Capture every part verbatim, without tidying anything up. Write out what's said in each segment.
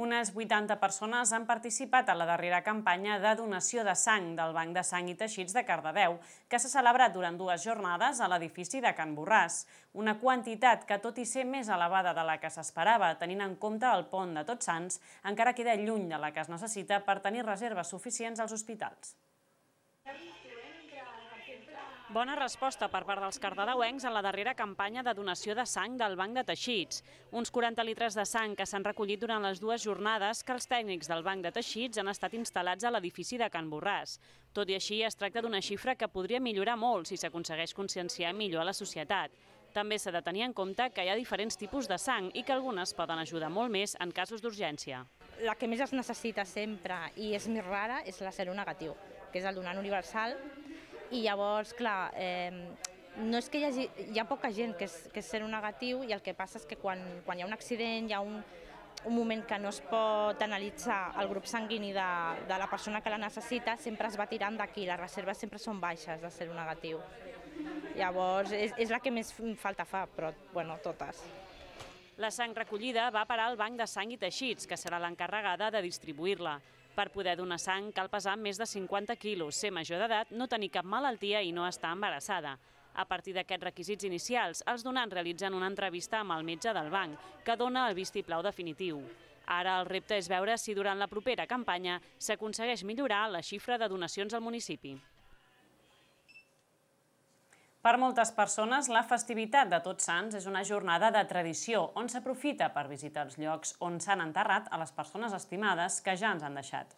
Unes vuitanta persones han participat a la darrera campanya de donació de sang del Banc de Sang i Teixits de Cardedeu, que s'ha celebrat durant dues jornades a l'edifici de Can Borràs. Una quantitat que, tot i ser més elevada de la que s'esperava, tenint en compte el pont de Tots Sants, encara queda lluny de la que es necessita per tenir reserves suficients als hospitals. Bona resposta per part dels cardedeuencs a la darrera campanya de donació de sang del Banc de Teixits. Uns quaranta litres de sang que s'han recollit durant les dues jornades que els tècnics del Banc de Teixits han estat instal·lats a l'edifici de Can Borràs. Tot i així, es tracta d'una xifra que podria millorar molt si s'aconsegueix conscienciar millor a la societat. També s'ha de tenir en compte que hi ha diferents tipus de sang i que algunes poden ajudar molt més en casos d'urgència. La que més es necessita sempre i és més rara és la seronegatiu, que és el donant universal. I llavors, clar, eh, no és que hi hagi, hi ha poca gent que és, que és seronegatiu i el que passa és que quan, quan hi ha un accident, hi ha un, un moment que no es pot analitzar el grup sanguini de, de la persona que la necessita, sempre es va tirant d'aquí, les reserves sempre són baixes de seronegatiu. Llavors, és, és la que més falta fa, però bueno, totes. La sang recollida va parar al Banc de Sang i Teixits, que serà l'encarregada de distribuir-la. Per poder donar sang cal pesar més de cinquanta quilos, ser major d'edat, no tenir cap malaltia i no estar embarassada. A partir d'aquests requisits inicials, els donants realitzen una entrevista amb el metge del banc, que dona el vistiplau definitiu. Ara el repte és veure si durant la propera campanya s'aconsegueix millorar la xifra de donacions al municipi. Per moltes persones, la festivitat de Tots Sants és una jornada de tradició on s'aprofita per visitar els llocs on s'han enterrat a les persones estimades que ja ens han deixat.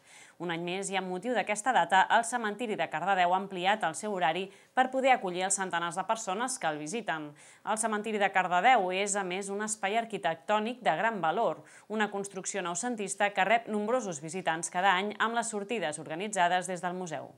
Un any més i amb motiu d'aquesta data, el cementiri de Cardedeu ha ampliat el seu horari per poder acollir els centenars de persones que el visiten. El cementiri de Cardedeu és, a més, un espai arquitectònic de gran valor, una construcció noucentista que rep nombrosos visitants cada any amb les sortides organitzades des del museu.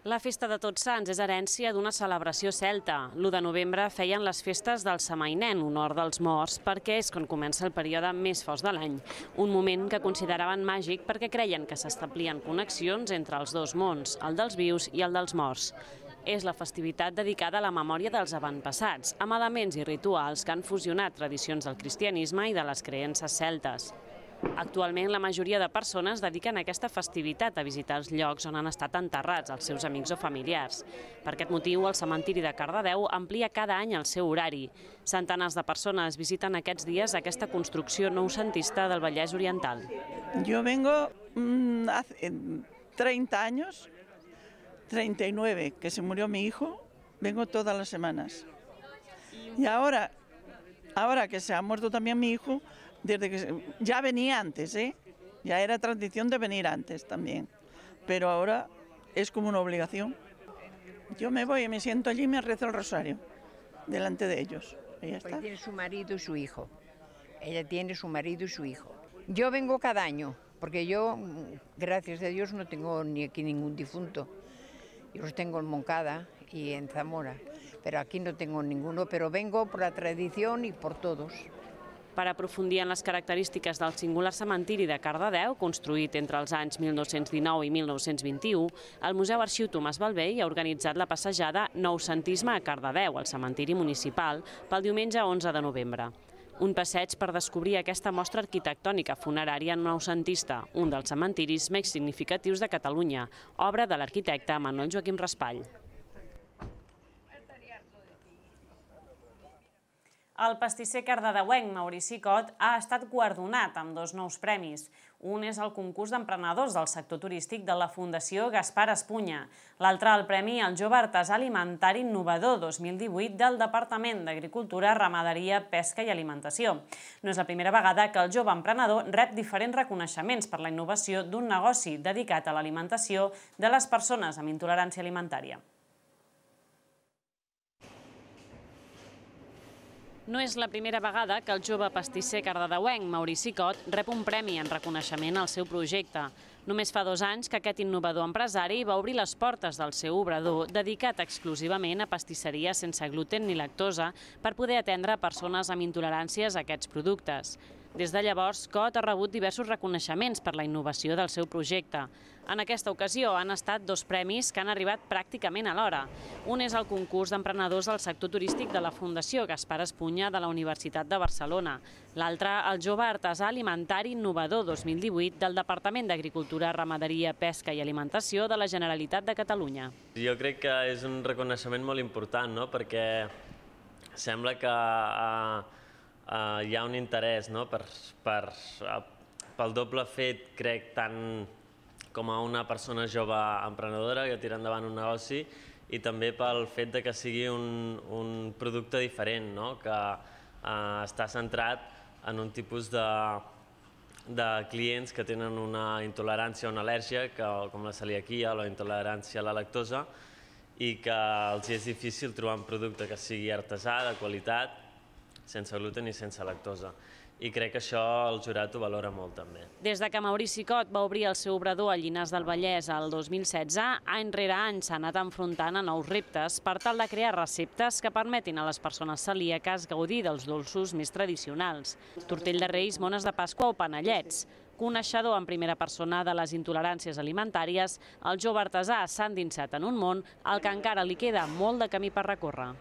La festa de Tots Sants és herència d'una celebració celta. l'u de novembre feien les festes del Samainent, honor dels morts, perquè és quan comença el període més fosc de l'any. Un moment que consideraven màgic perquè creien que s'establien connexions entre els dos mons, el dels vius i el dels morts. És la festivitat dedicada a la memòria dels avantpassats, amb elements i rituals que han fusionat tradicions del cristianisme i de les creences celtes. Actualment, la majoria de persones dediquen aquesta festivitat a visitar els llocs on han estat enterrats els seus amics o familiars. Per aquest motiu, el cementiri de Cardedeu amplia cada any el seu horari. Centenars de persones visiten aquests dies aquesta construcció noucentista del Vallès Oriental. Yo vengo mmm, hace treinta años, treinta y nueve, que se murió mi hijo, vengo todas las semanas. Y ahora, ahora que se ha muerto también mi hijo, desde que ya venía antes, ¿eh? Ya era tradición de venir antes también, pero ahora es como una obligación. Yo me voy y me siento allí y me rezo el rosario delante de ellos. Y ya está. Pues tiene su marido y su hijo. Ella tiene su marido y su hijo. Yo vengo cada año, porque yo, gracias a Dios, no tengo ni aquí ningún difunto. Yo los tengo en Moncada y en Zamora, pero aquí no tengo ninguno, pero vengo por la tradición y por todos. Per aprofundir en les característiques del singular cementiri de Cardedeu, construït entre els anys mil nou-cents dinou i mil nou-cents vint-i-u, el Museu Arxiu Tomàs Bellvei ha organitzat la passejada Noucentisme a Cardedeu, al cementiri municipal, pel diumenge onze de novembre. Un passeig per descobrir aquesta mostra arquitectònica funerària noucentista, un dels cementiris més significatius de Catalunya, obra de l'arquitecte Manuel Joaquim Raspall. El pastisser cardedeuenc Maurici Cot ha estat guardonat amb dos nous premis. Un és el concurs d'emprenedors del sector turístic de la Fundació Gaspar Espunya. L'altre el premi al jove artesà alimentari innovador dos mil divuit del Departament d'Agricultura, Ramaderia, Pesca i Alimentació. No és la primera vegada que el jove emprenedor rep diferents reconeixements per la innovació d'un negoci dedicat a l'alimentació de les persones amb intolerància alimentària. No és la primera vegada que el jove pastisser cardedeuenc Maurici Cot rep un premi en reconeixement al seu projecte. Només fa dos anys que aquest innovador empresari va obrir les portes del seu obrador dedicat exclusivament a pastisseria sense gluten ni lactosa per poder atendre persones amb intoleràncies a aquests productes. Des de llavors, C O T ha rebut diversos reconeixements per la innovació del seu projecte. En aquesta ocasió han estat dos premis que han arribat pràcticament alhora. Un és el concurs d'emprenedors del sector turístic de la Fundació Gaspar Espunya de la Universitat de Barcelona. L'altre, el Jove Artesà Alimentari Innovador dos mil divuit del Departament d'Agricultura, Ramaderia, Pesca i Alimentació de la Generalitat de Catalunya. Jo crec que és un reconeixement molt important, no? Perquè sembla que uh, uh, hi ha un interès, no? per, per, uh, pel doble fet, crec, tant com a una persona jove emprenedora que tira endavant un negoci i també pel fet de que sigui un, un producte diferent, no? Que uh, està centrat en un tipus de, de clients que tenen una intolerància o una al·lèrgia, que, com la celiaquia o la intolerància a la lactosa, i que els és difícil trobar un producte que sigui artesà, de qualitat, sense gluten i sense lactosa. I crec que això el jurat ho valora molt també. Des de que Maurici Cot va obrir el seu obrador a Llinars del Vallès el dos mil setze, any rere any s'ha anat enfrontant a nous reptes per tal de crear receptes que permetin a les persones celíaques gaudir dels dolços més tradicionals. Tortell de Reis, mones de Pasqua o panellets. Coneixedor en primera persona de les intoleràncies alimentàries, el jove artesà s'ha endinsat en un món al que encara li queda molt de camí per recórrer.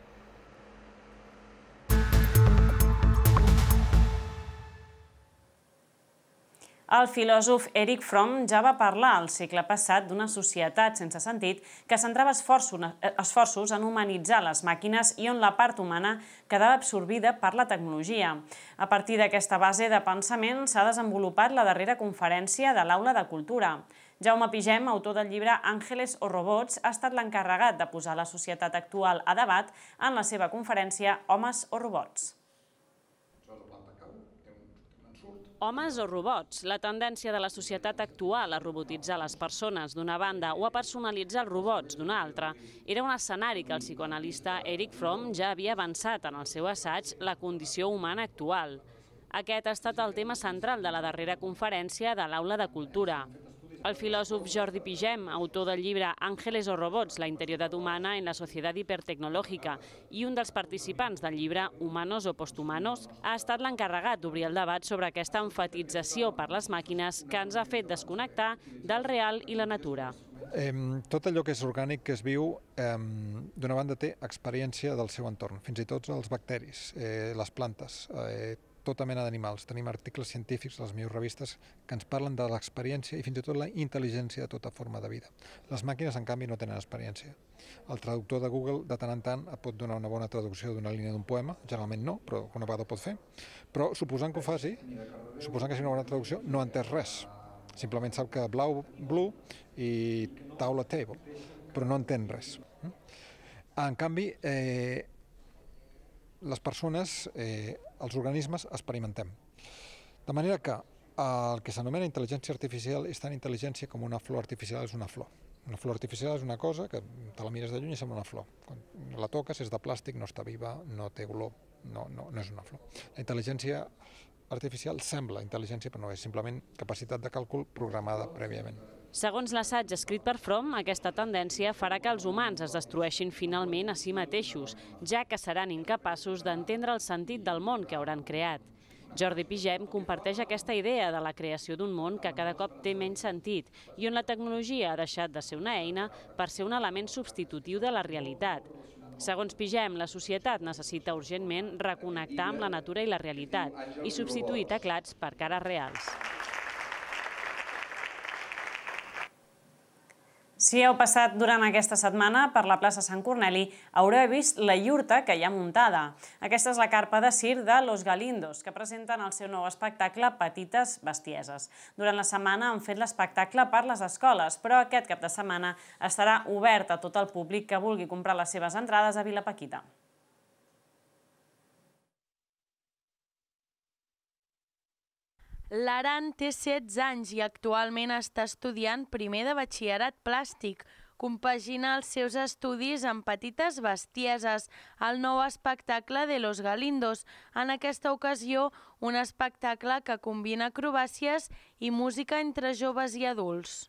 El filòsof Erich Fromm ja va parlar al segle passat d'una societat sense sentit que centrava esforços en humanitzar les màquines i on la part humana quedava absorbida per la tecnologia. A partir d'aquesta base de pensament s'ha desenvolupat la darrera conferència de l'Aula de Cultura. Jaume Pigem, autor del llibre Àngeles o Robots, ha estat l'encarregat de posar la societat actual a debat en la seva conferència Homes o Robots. Homes o robots, la tendència de la societat actual a robotitzar les persones d'una banda o a personalitzar els robots d'una altra era un escenari que el psicoanalista Erich Fromm ja havia avançat en el seu assaig La condició humana actual. Aquest ha estat el tema central de la darrera conferència de l'Aula de Cultura. El filòsof Jordi Pigem, autor del llibre Àngeles o Robots, la interioritat humana en la societat hipertecnològica i un dels participants del llibre Humanos o Posthumanos, ha estat l'encarregat d'obrir el debat sobre aquesta enfatització per les màquines que ens ha fet desconnectar del real i la natura. Eh, tot allò que és orgànic, que es viu, eh, d'una banda té experiència del seu entorn, fins i tot els bacteris, eh, les plantes, eh, tota mena d'animals. Tenim articles científics a les millors revistes que ens parlen de l'experiència i fins i tot la intel·ligència de tota forma de vida. Les màquines, en canvi, no tenen experiència. El traductor de Google, de tant en tant, et pot donar una bona traducció d'una línia d'un poema, generalment no, però una vegada ho pot fer. Però suposant que ho faci, suposant que sigui una bona traducció, no ha entès res. Simplement sap que blau, blue i taula, table, però no entén res. En canvi, eh, les persones, eh, els organismes, experimentem. De manera que el que s'anomena intel·ligència artificial és tan intel·ligència com una flor artificial és una flor. Una flor artificial és una cosa que te la mires de lluny i sembla una flor. Quan la toques és de plàstic, no està viva, no té olor, no, no, no és una flor. La intel·ligència artificial sembla intel·ligència, però no és simplement capacitat de càlcul programada prèviament. Segons l'assaig escrit per Fromm, aquesta tendència farà que els humans es destrueixin finalment a si mateixos, ja que seran incapaços d'entendre el sentit del món que hauran creat. Jordi Pigem comparteix aquesta idea de la creació d'un món que cada cop té menys sentit i on la tecnologia ha deixat de ser una eina per ser un element substitutiu de la realitat. Segons Pigem, la societat necessita urgentment reconnectar amb la natura i la realitat i substituir teclats per cares reals. Si heu passat durant aquesta setmana per la plaça Sant Corneli, haureu vist la iurta que hi ha muntada. Aquesta és la carpa de circ de Los Galindos, que presenten el seu nou espectacle Petites bestieses. Durant la setmana han fet l'espectacle per les escoles, però aquest cap de setmana estarà obert a tot el públic que vulgui comprar les seves entrades a Vilapaquita. L'Aran té setze anys i actualment està estudiant primer de batxillerat plàstic. Compagina els seus estudis amb Petites bestieses, el nou espectacle de Los Galindos. En aquesta ocasió, un espectacle que combina acrobàcies i música entre joves i adults.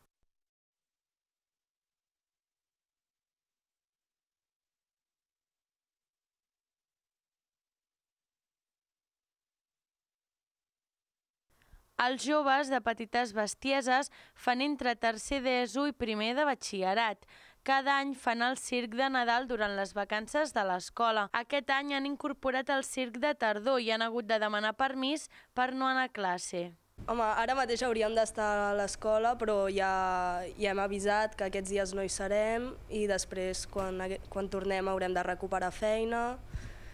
Els joves de petites bestieses fan entre tercer d'ESO i primer de batxillerat. Cada any fan el circ de Nadal durant les vacances de l'escola. Aquest any han incorporat el circ de tardor i han hagut de demanar permís per no anar a classe. Home, ara mateix hauríem d'estar a l'escola, però ja, ja hem avisat que aquests dies no hi serem i després, quan, quan tornem, haurem de recuperar feina.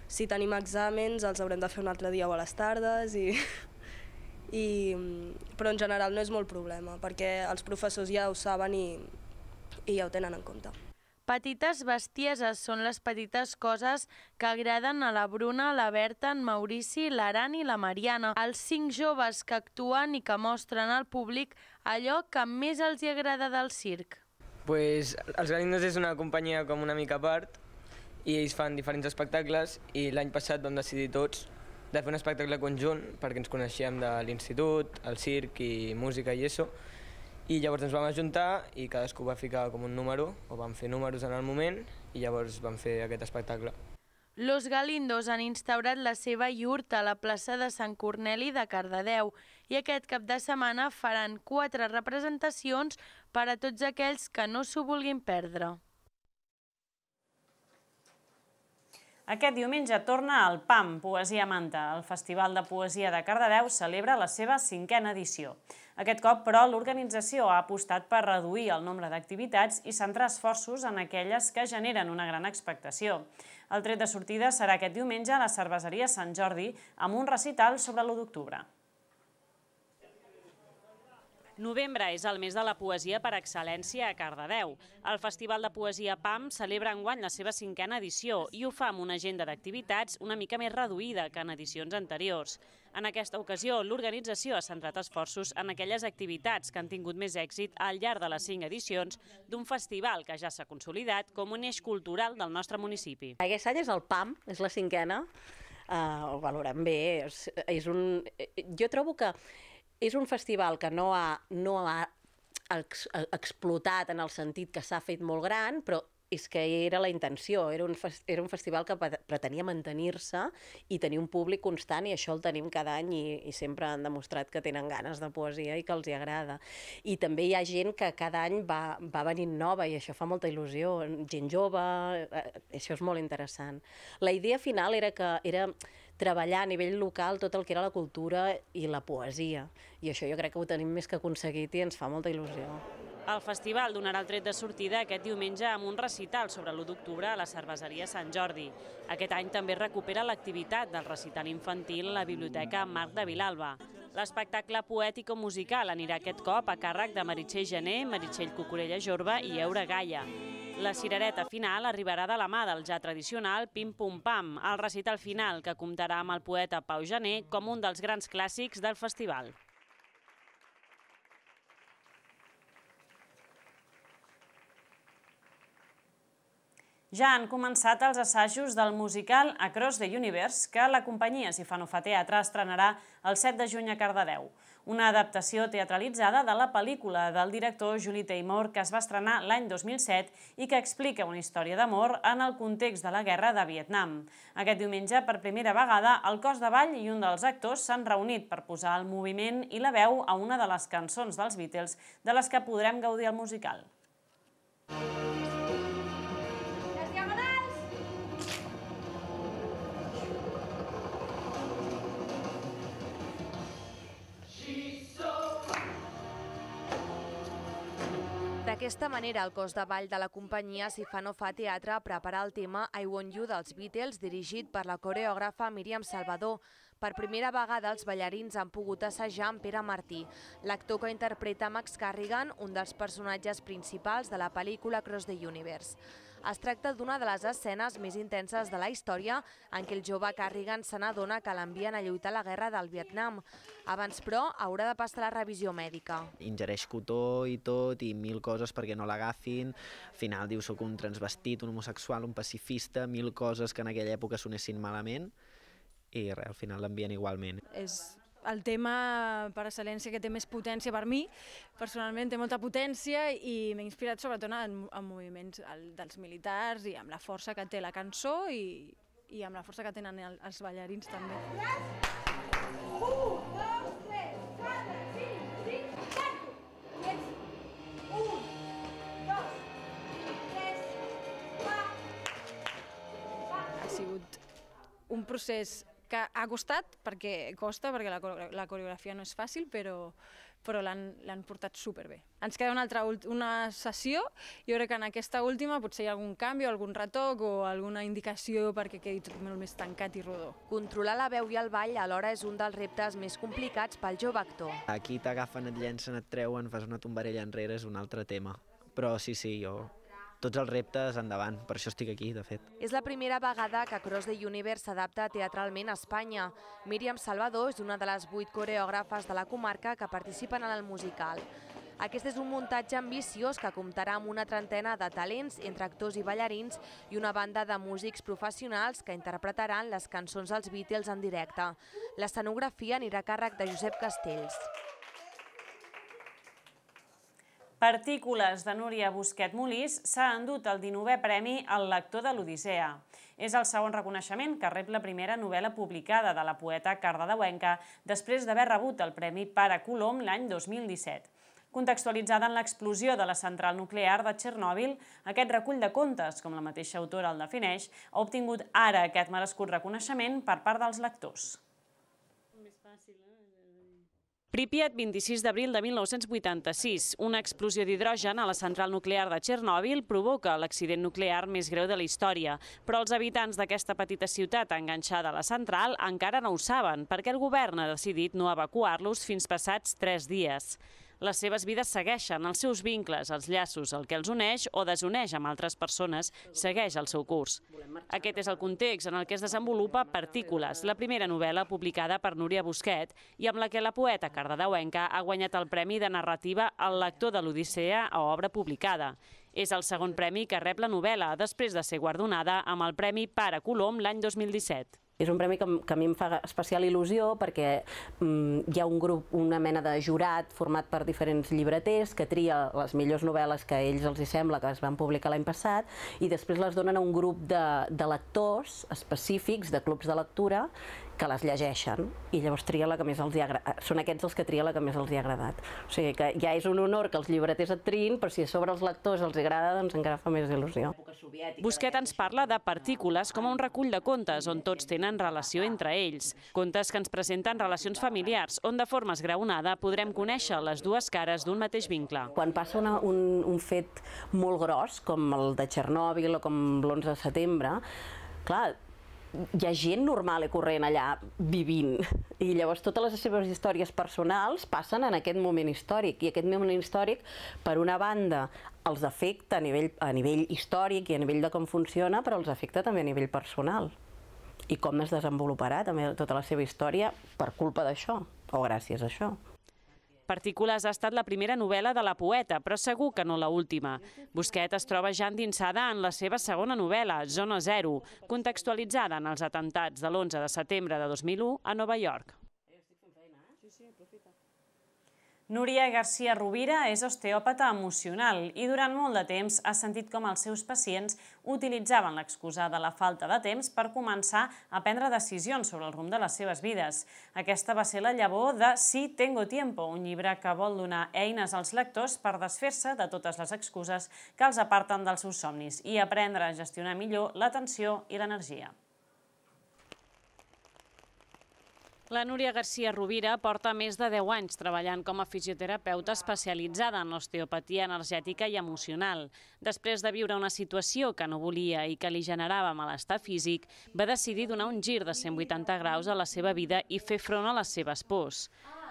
Si tenim exàmens, els haurem de fer un altre dia o a les tardes. I, i, però en general no és molt problema, perquè els professors ja ho saben i, i ja ho tenen en compte. Petites bestieses són les petites coses que agraden a la Bruna, la Berta, en Maurici, l'Aran i la Mariana, els cinc joves que actuen i que mostren al públic allò que més els hi agrada del circ. Pues, els Galindos és una companyia com una mica a part i ells fan diferents espectacles i l'any passat vam decidir tots de fer un espectacle conjunt perquè ens coneixíem de l'institut, el circ i música i això. I llavors ens vam ajuntar i cadascú va ficar com un número, o vam fer números en el moment, i llavors vam fer aquest espectacle. Los Galindos han instaurat la seva iurta a la plaça de Sant Corneli de Cardedeu i aquest cap de setmana faran quatre representacions per a tots aquells que no s'ho vulguin perdre. Aquest diumenge torna el P A M, Poesia Manta. El Festival de Poesia de Cardedeu celebra la seva cinquena edició. Aquest cop, però, l'organització ha apostat per reduir el nombre d'activitats i centrar esforços en aquelles que generen una gran expectació. El tret de sortida serà aquest diumenge a la Cerveseria Sant Jordi amb un recital sobre l'u d'octubre. Novembre és el mes de la poesia per excel·lència a Cardedeu. El Festival de Poesia P A M celebra enguany la seva cinquena edició i ho fa amb una agenda d'activitats una mica més reduïda que en edicions anteriors. En aquesta ocasió, l'organització ha centrat esforços en aquelles activitats que han tingut més èxit al llarg de les cinc edicions d'un festival que ja s'ha consolidat com un eix cultural del nostre municipi. Aquest any és el P A M, és la cinquena, ho valorem bé. És un... Jo trobo que és un festival que no ha, no ha explotat en el sentit que s'ha fet molt gran, però és que era la intenció, era un, era un festival que pretenia mantenir-se i tenir un públic constant, i això el tenim cada any i, i sempre han demostrat que tenen ganes de poesia i que els hi agrada. I també hi ha gent que cada any va, va venint nova i això fa molta il·lusió, gent jove, això és molt interessant. La idea final era que era treballar a nivell local tot el que era la cultura i la poesia, i això jo crec que ho tenim més que aconseguit i ens fa molta il·lusió. El festival donarà el tret de sortida aquest diumenge amb un recital sobre l'u d'octubre a la Cerveseria Sant Jordi. Aquest any també recupera l'activitat del recital infantil a la Biblioteca Marc de Vilalba. L'espectacle poètico-musical anirà aquest cop a càrrec de Meritxell Gené, Meritxell Cucurella Jorba i Eura Gaia. La cirereta final arribarà de la mà del ja tradicional Pim Pum Pam, el recital final que comptarà amb el poeta Pau Gené com un dels grans clàssics del festival. Ja han començat els assajos del musical Across the Universe, que la companyia Sifanofa Teatre estrenarà el set de juny a Cardedeu. Una adaptació teatralitzada de la pel·lícula del director Julie Taymor que es va estrenar l'any dos mil set i que explica una història d'amor en el context de la guerra de Vietnam. Aquest diumenge, per primera vegada, el cos de ball i un dels actors s'han reunit per posar el moviment i la veu a una de les cançons dels Beatles de les que podrem gaudir al musical. D'aquesta manera, el cos de ball de la companyia Sifanofa Teatre prepara el tema I Want You dels Beatles, dirigit per la coreògrafa Míriam Salvador. Per primera vegada, els ballarins han pogut assajar amb Pere Martí, l'actor que interpreta Max Carrigan, un dels personatges principals de la pel·lícula Across the Universe. Es tracta d'una de les escenes més intenses de la història en què el jove Carrigan se n'adona que l'envien a lluitar a la guerra del Vietnam. Abans, però, haurà de passar la revisió mèdica. Ingereix cotó i tot, i mil coses perquè no l'agafin. Al final diu, soc un transvestit, un homosexual, un pacifista, mil coses que en aquella època sonessin malament, i res, al final l'envien igualment. És el tema per excel·lència que té més potència per mi. Personalment té molta potència i m'he inspirat sobretot en, en moviments el, dels militars i amb la força que té la cançó i, i amb la força que tenen el, els ballarins també. Un, dos, tres, quatre. un procés que ha costat, perquè costa, perquè la coreografia no és fàcil, però però l'han portat superbé. Ens queda una altra una sessió, jo crec que en aquesta última potser hi ha algun canvi, algun retoc o alguna indicació perquè quedi tot molt més tancat i rodó. Controlar la veu i el ball alhora és un dels reptes més complicats pel jove actor. Aquí t'agafen, et llencen, et treuen, fas una tombarella enrere, és un altre tema. Però sí, sí, jo... Tots els reptes endavant, per això estic aquí, de fet. És la primera vegada que Cross the Universe s'adapta teatralment a Espanya. Míriam Salvador és una de les vuit coreògrafes de la comarca que participen en el musical. Aquest és un muntatge ambiciós que comptarà amb una trentena de talents entre actors i ballarins i una banda de músics professionals que interpretaran les cançons dels Beatles en directe. L'escenografia anirà a càrrec de Josep Castells. Partícules, de Núria Busquet Molís, s'ha endut el dinovè premi al lector de l'Odissea. És el segon reconeixement que rep la primera novel·la publicada de la poeta cardedeuenca després d'haver rebut el Premi Pare Colom l'any dos mil disset. Contextualitzada en l'explosió de la central nuclear de Txernòbil, aquest recull de contes, com la mateixa autora el defineix, ha obtingut ara aquest merescut reconeixement per part dels lectors. Pripyat, vint-i-sis d'abril de mil nou-cents vuitanta-sis. Una explosió d'hidrogen a la central nuclear de Txernòbil provoca l'accident nuclear més greu de la història, però els habitants d'aquesta petita ciutat enganxada a la central encara no ho saben, perquè el govern ha decidit no evacuar-los fins passats tres dies. Les seves vides segueixen, els seus vincles, els llaços, el que els uneix o desuneix amb altres persones, segueix el seu curs. Aquest és el context en el què es desenvolupa Partícules, la primera novel·la publicada per Núria Busquet i amb la que la poeta cardedeuenca ha guanyat el Premi de Narrativa al lector de l'Odissea a obra publicada. És el segon premi que rep la novel·la, després de ser guardonada amb el Premi Pare Colom l'any dos mil disset. És un premi que a mi em fa especial il·lusió perquè hi ha un grup, una mena de jurat format per diferents llibreters que tria les millors novel·les que a ells els sembla que es van publicar l'any passat i després les donen a un grup de lectors específics, de clubs de lectura, que les llegeixen i llavors tria la que més els ha agradat. Són aquests els que tria la que més els ha agradat. O sigui que ja és un honor que els llibreters et triïn, però si a sobre els lectors els agrada, doncs encara fa més il·lusió. Busquet ens parla de Partícules com a un recull de contes on tots tenen relació entre ells. Contes que ens presenten relacions familiars, on de forma esgraonada podrem conèixer les dues cares d'un mateix vincle. Quan passa un fet molt gros, com el de Txernòbil o com l'onze de setembre, clar, hi ha gent normal i corrent allà vivint i llavors totes les seves històries personals passen en aquest moment històric i aquest moment històric, per una banda, els afecta a nivell, a nivell històric i a nivell de com funciona, però els afecta també a nivell personal i com es desenvoluparà també tota la seva història per culpa d'això o gràcies a això. Partícules ha estat la primera novel·la de la poeta, però segur que no l'última. Busquet es troba ja endinsada en la seva segona novel·la, Zona Zero, contextualitzada en els atemptats de l'onze de setembre de dos mil u a Nova York. Núria García Rovira és osteòpata emocional i durant molt de temps ha sentit com els seus pacients utilitzaven l'excusa de la falta de temps per començar a prendre decisions sobre el rumb de les seves vides. Aquesta va ser la llavor de Sí, tengo tiempo, un llibre que vol donar eines als lectors per desfer-se de totes les excuses que els aparten dels seus somnis i aprendre a gestionar millor l'atenció i l'energia. La Núria García Rovira porta més de deu anys treballant com a fisioterapeuta especialitzada en l'osteopatia energètica i emocional. Després de viure una situació que no volia i que li generava malestar físic, va decidir donar un gir de cent vuitanta graus a la seva vida i fer front a les seves pors.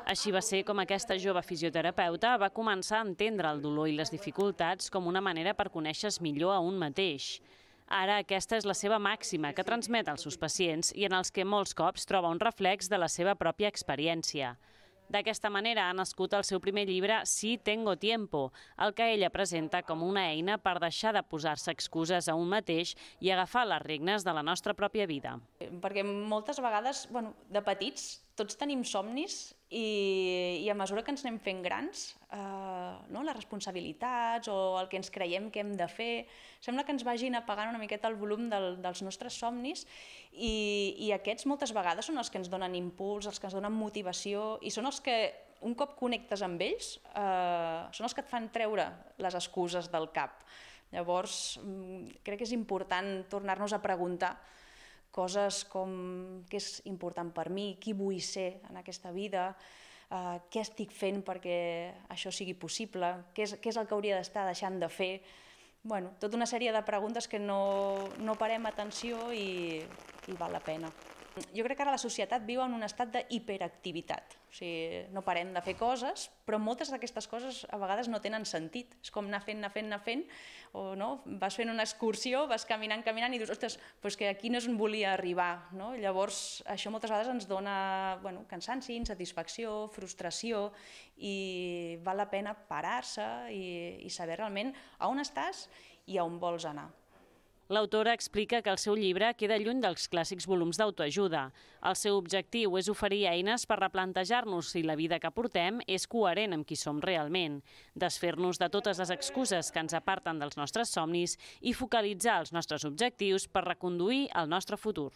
Així va ser com aquesta jove fisioterapeuta va començar a entendre el dolor i les dificultats com una manera per conèixer-se millor a un mateix. Ara aquesta és la seva màxima que transmet als seus pacients i en els que molts cops troba un reflex de la seva pròpia experiència. D'aquesta manera ha nascut el seu primer llibre Sí, tengo tiempo, el que ella presenta com una eina per deixar de posar-se excuses a un mateix i agafar les regnes de la nostra pròpia vida. Perquè moltes vegades, bueno, de petits, tots tenim somnis i, i a mesura que ens anem fent grans, eh, no, les responsabilitats o el que ens creiem que hem de fer, sembla que ens vagin apagant una miqueta el volum del, dels nostres somnis i, i aquests moltes vegades són els que ens donen impuls, els que ens donen motivació i són els que un cop connectes amb ells eh, són els que et fan treure les excuses del cap. Llavors crec que és important tornar-nos a preguntar coses com què és important per mi, qui vull ser en aquesta vida, Uh, què estic fent perquè això sigui possible, què és, què és el que hauria d'estar deixant de fer. Bueno, tota una sèrie de preguntes que no, no parem atenció i, i val la pena. Jo crec que ara la societat viu en un estat d'hiperactivitat. O sigui, no parem de fer coses, però moltes d'aquestes coses a vegades no tenen sentit. És com anar fent, anar fent, anar fent, o no? Vas fent una excursió, vas caminant, caminant i dius, ostres, doncs que aquí no és on volia arribar. No? Llavors, això moltes vegades ens dona bueno, cansanci, insatisfacció, frustració, i val la pena parar-se i, i saber realment a on estàs i a on vols anar. L'autora explica que el seu llibre queda lluny dels clàssics volums d'autoajuda. El seu objectiu és oferir eines per replantejar-nos si la vida que portem és coherent amb qui som realment, desfer-nos de totes les excuses que ens aparten dels nostres somnis i focalitzar els nostres objectius per reconduir el nostre futur.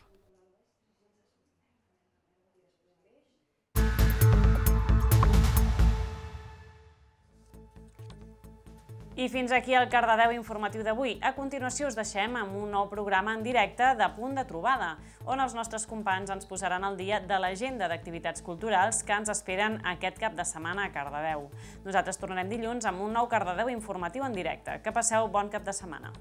I fins aquí el Cardedeu informatiu d'avui. A continuació us deixem amb un nou programa en directe de Punt de Trobada, on els nostres companys ens posaran al dia de l'agenda d'activitats culturals que ens esperen aquest cap de setmana a Cardedeu. Nosaltres tornarem dilluns amb un nou Cardedeu informatiu en directe. Que passeu bon cap de setmana.